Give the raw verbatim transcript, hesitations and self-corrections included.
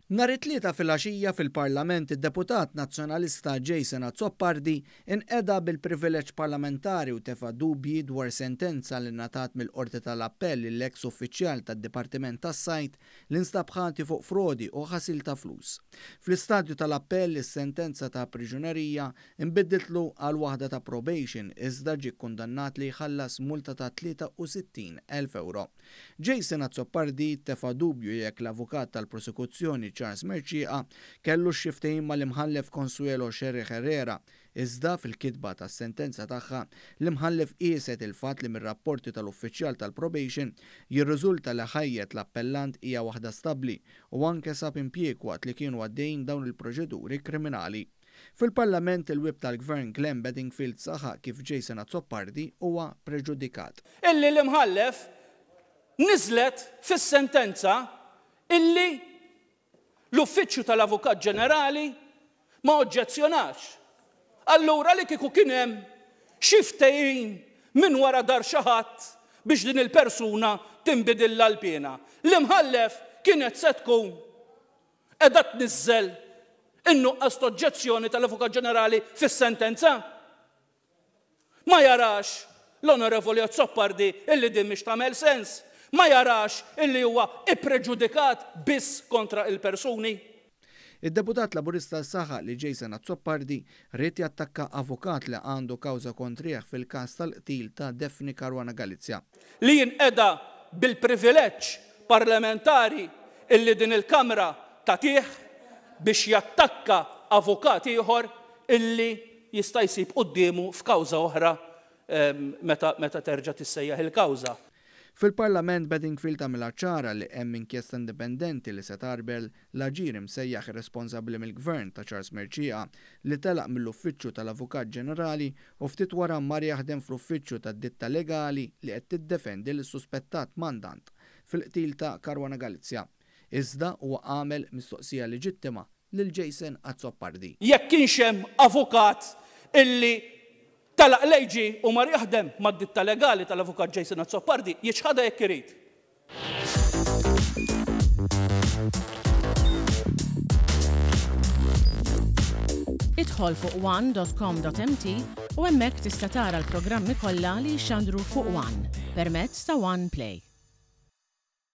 Nhar it-Tlieta filgħaxija fil-Parlament, id-deputat Nazzjonalista Jason Azzopardi inqeda bil-privileġġ parlamentari u tefa' dubji dwar sentenza li ngħatat mill-Qorti tal-Appell lill-eks uffiċjal tad-Dipartiment tas-Sajd li nstab ħati fuq frodi u ħasil ta' flus. Fl-istadju tal-appell, is-sentenza ta' priġunerija nbidlitlu għal waħda ta' probation, iżda ġie kundannat li jħallas multa ta' tlieta u sittin elf euro. Jason Azzopardi tefa' dubju jekk l-avukat tal-prosekuzzjoni Charles Mercieca kellu xi ftehim mal-imħallef Consuelo Scerri Herrera, iżda fil-kitba tas-sentenza tagħha l-imħallef qieset il-fatt li mir-rapporti tal-uffiċjal tal-probation jirriżulta li ħajjet l-appellant hija waħda stabbli u anke sab impjieg waqt li kienu għaddejn dawn il-proċeduri kriminali. Fil-Parlament, il-whip tal-Gvern Glenn Bedingfield saħaq kif Jason Azzopardi huwa preġudikat. Illi l-imħallef niżlet fis-sentenza illi l-Uffiċċju tal-Avukat Ġenerali ma oġġezzjonax. Allura li kieku kien hemm xi ftehim minn wara dahar xi ħadd biex din il-persuna tinbidilha l-piena, l-imħallef kienet se tkun qiegħda tniżżel in-nuqqas oġġezzjoni tal-Avukat Ġenerali fis-sentenza? Ma jarax l-Onorevoli Azzopardi illi din mhix tagħmel sens? Ma jarax illi huwa ippreġudikat biss kontra il-persuni? Id-deputat Laburista saħaq li Jason Azzopardi ried jattakka avukat li għandu kawża kontrih fil-każ tal-qtil ta' Daphne Caruana Galizia. Li jinqeda bil-privileġġ parlamentari illi din il-Kamra tagħtih biex jattakka avukat ieħor illi jista' jsib quddiemu f'kawża oħra meta, meta terġa' tissejjaħ il-kawża. Fil-Parlament, Bedingfield għamilha ċara li hemm inkjesta indipendenti li se tgħarbel l-aġir imsejjaħ irresponsabbli mill-gvern ta' Charles Mercieca, li telaq mill-Uffiċċju tal-Avukat Ġenerali u ftit wara mar jaħdem fl-uffiċċju tad-ditta legali li qed tiddefendi lis-suspettat mandant fil-qtil ta' Caruana Galizia. Iżda huwa għamel mistoqsija leġittima lil Jason Azzopardi. Jekk kienx hemm avukat illi telaq l-A G u mar jaħdem mad-ditta legali tal-avukat Jason Azzopardi, jiċħadha jekk irid. Idħol fuq one dot com dot M T u hemmhekk tista' tara l-programmi kollha li jixxandru fuq One permezz ta' One Play.